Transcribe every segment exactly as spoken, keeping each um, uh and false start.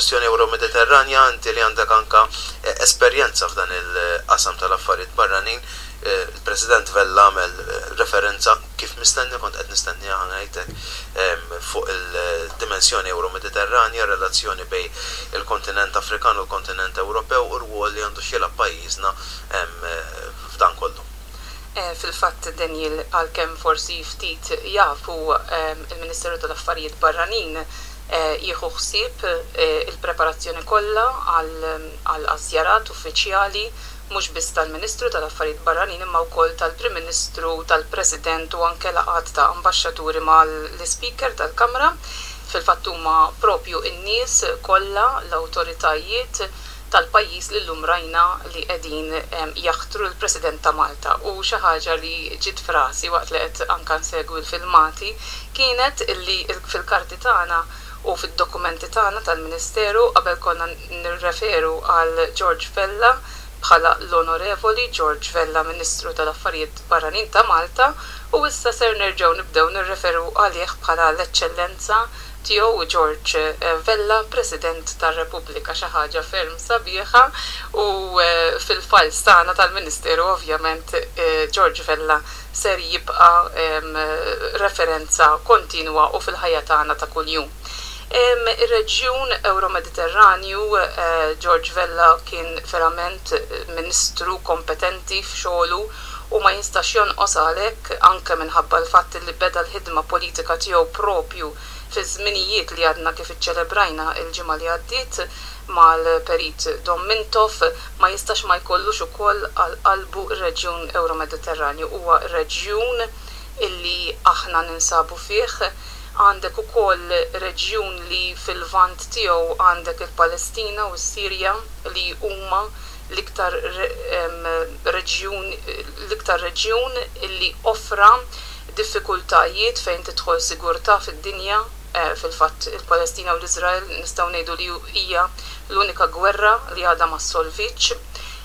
Il-kwestjoni Euro-Mediterranja, inti li għandek anka eh, esperjenza f'dan il-qasam tal-affarijiet barranin, eh, il-President Vella għamel eh, referenza, kif mistenni, kont qed nistenni ngħidlek, fuq il-dimensjoni Euro-Mediterranja, relazzjoni bejn il-kontinent Afrikan u l-kontinent Ewropew u r-rwol li għandu x'jilgħab pajjiżna f'dan kollu. Fil-fatt, Daniel, għalkemm forsi ftit jafu, il-Ministeru tal-Affarijiet Barranin jieħu ħsieb il-preparazzjoni kollha għal żjarat uffiċjali, mhux biss tal-Ministru tal-Affarijiet Barranin imma wkoll tal-Prim Ministru, tal-President u anke laqgħat ta' ambaxxaturi mal-Speaker tal-Kamra. Fil-fatt huma propju n-nies kollha, l-awtoritajiet tal-pajjiż li llum rajna li qegħdin jaħtru l-President ta' Malta. U xi ħaġa li ġiet f'rasi waqt li qed anke nsegwi l-filmati kienet illi fil-karti tagħna u fid-dokumenti tagħna tal-Ministeru qabel konna nirreferu għal George Vella bħala l-Onorevoli George Vella, Ministru tal-Affarijiet Barranin ta' Malta, u issa ser nerġgħu nibdew nirreferu għalih bħala l-Eċċellenza Tiegħu George Vella, President tar-Repubblika, xi ħaġa ferm sabiħa, u fil-files tagħna tal-Ministeru ovvjament George Vella ser jibqa' referenza kontinwa u fil-ħajja tagħna ta' kuljum. Ir-reġjun Euro-Mediterranju, George Vella kien verament ministru kompetenti f'xogħlu u ma jistax jonqos għalhekk, anke minħabba l-fatt li beda l-ħidma politika tiegħu propju fi żminijiet li għadna kif iċċelebrajna il-ġimgħa li għaddiet mal-Perit Dom Mintoff, ma jistax ma jkollux ukoll għal qalbu r-reġjun Euro-Mediterranju. Huwa reġjun illi aħna ninsabu fih. Għandek ukoll reġjun li fil-vant tiegħu għandek il-Palestina u s-Sirja, li huma l-iktar reġjun l-iktar reġjun illi offra diffikultajiet fejn tidħol sigurtà fid-dinja. Fil-fatt il-Palestina u l-Iżrael nistgħu ngħidu li hija l-unika gwerra li għadha ma ssolvitx.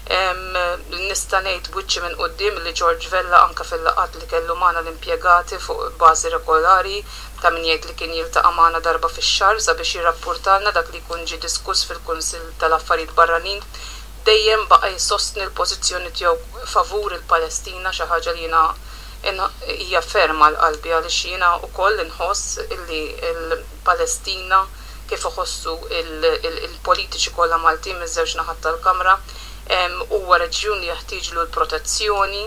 Nista' ngħid b'wiċċi minn quddiem li George Vella, anke fil-laqgħat li kellu magħna l-impjegati fuq bażi regolari, ta' min jgħid li kien jiltaqa' magħna darba fix-xahar sabiex jirrappurtalna dak li jkun ġie diskuss fil-Kunsill tal-Affarijiet Barranin, dejjem baqa' jsostni l-pożizzjoni tiegħu favur il-Palestina, xi ħaġa li jiena hija ferm għal qalbi, għaliex jiena wkoll inħoss illi l-Palestina, kif iħossu il-politiċi kollha Maltin miż-żewġ naħat tal-Kamra, huwa reġjun li jeħtieġlu l-protezzjoni.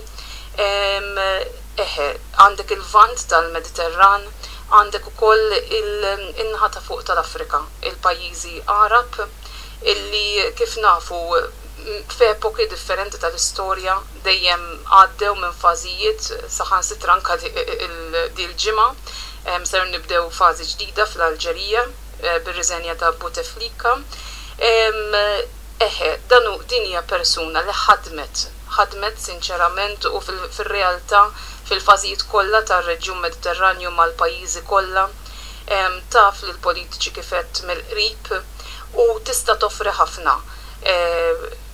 Eħe, għandek il-vant tal-Mediterran, għandek ukoll il-naħa ta' fuq tal-Afrika, il-pajjiżi Għarab, illi kif nafu f'epoki differenti tal-istorja dejjem għaddew minn fażijiet, saħansitra anke dil-ġimgħa ser nibdew fażi ġdida fl-Alġerija bir-riżenja ta' Bouteflika. Eħe, danu din hija persuna li ħadmet, ħadmet sinċerament u fil-realtà fil-fażijiet kollha tar-reġjun Mediterranju mal-pajjiżi kollha, taf li l-politiċi kif għedt mill-qrib u tista' toffri ħafna.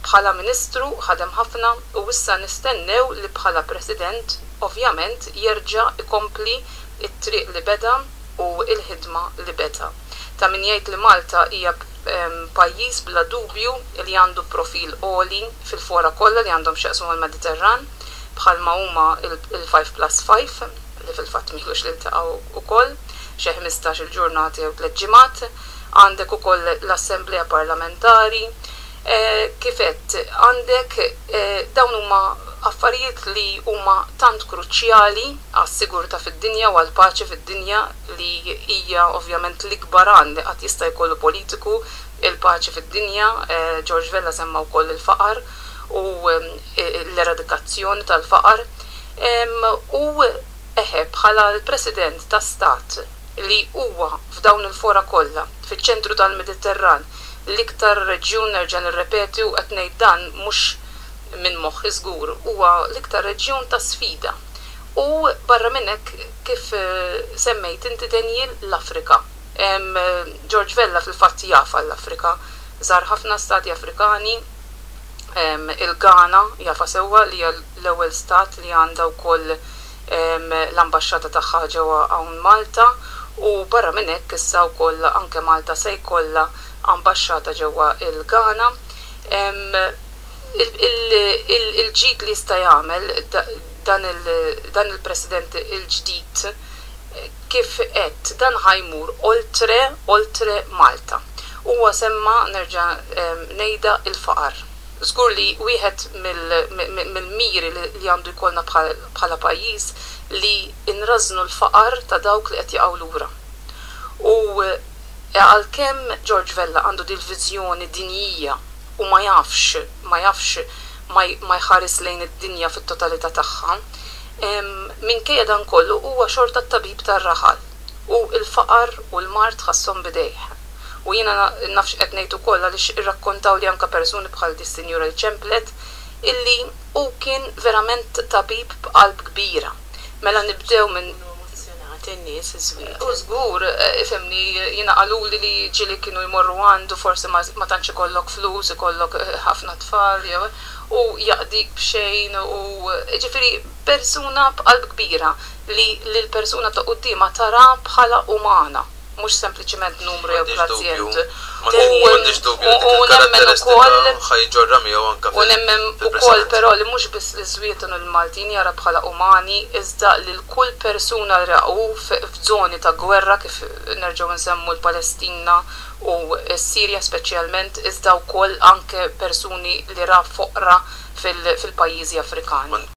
Bħala ministru ħadem ħafna u issa nistennew li bħala president ovvjament jerġa' ikompli it-triq li beda u l-ħidma li beda. Ta' min jgħid li Malta hija pajjiż bla dubju li għandu profil għoli fil-fora kollha li għandhom x'jaqsmu mal-Mediterran, bħalma huma il-five plus five, li fil-fatt m'ilux li ltaqgħu ukoll xi ħmistax il-ġurnata jew tliet ġimgħat. Għandek ukoll l-Assemblea Parlamentari. Kif għedt, għandek dawn huma affarijiet li huma tant kruċjali għas-sigurtà fid-dinja u għall-paċi fid-dinja, li hija ovvjament l-ikbar għan li qatt jista' jkollu politiku, il-paċi fid-dinja. George Vella semma wkoll il-faqar u l-eradikazzjoni tal-faqar. U eħe, bħala l-President ta' Stat li huwa f'dawn il-fora kollha fiċ-ċentru tal-Mediterran, l-iktar reġjun, nerġa' nirrepeti u qed ngħid dan mhux minn moħħi żgur, huwa l-iktar reġjun ta' sfida. U barra minn hekk, kif semmejt inti, Daniel, l-Afrika. George Vella fil-fatt jaf għall-Afrika, żar ħafna stati Afrikani, il-Ghana jafa sewwa, li hija l-ewwel stat li għandha wkoll l-ambaxxata tagħha ġewwa hawn Malta, u barra minn hekk issa wkoll anke Malta se jkollha ambaxxata ġewwa il-Ghana. Il-ġid li jista' jagħmel dan il-President il-ġdid, kif qed dan ħa jmur oltre oltre Malta. Huwa semma, nerġa' ngħidha, il-faqar. Żgur li wieħed mill-miri li għandu jkollna bħala pajjiż li nrażnu l-faqar ta' dawk li qed jaqgħu lura. U għalkemm George Vella għandu dil-viżjoni dinjija u ma jafx ma jafx ma jħares lejn id-dinja fit-totalità tagħha, minkejja dan kollu huwa xorta t-tabib tar-raħal u l-faqar u l-mard ħasshom b'idejh. U jiena naf x'qed ngħid ukoll għaliex irrakkontawli anke persuni bħal di s-sinjura li ċemplet illi hu kien verament tabib b'qalb kbira. Mela nibdew minn in-nies iż-Żwieten. U żgur, ifhimni, jiena qaluli li ġieli kienu jmorru għandu, forsi ma tantx ikollok flus, ikollok ħafna tfal jew u jaqdik b'xejn, u ġifieri persuna b'qalb kbira li l-persuna ta' quddiemha tara bħala umana, mhux sempliċiment numru jew pazjent. M'għandix dubju li dik il-karatteristika ħa jġorrha miegħu anke. U nemmen ukoll però li mhux biss l-Żwieten u l-Maltin jara bħala umani, iżda lil kull persuna li rahu f'żoni ta' gwerra, kif nerġgħu nsemmu l-Palestina u s-Sirja speċjalment, iżda wkoll anke persuni li ra foqra fil-pajjiżi Afrikani.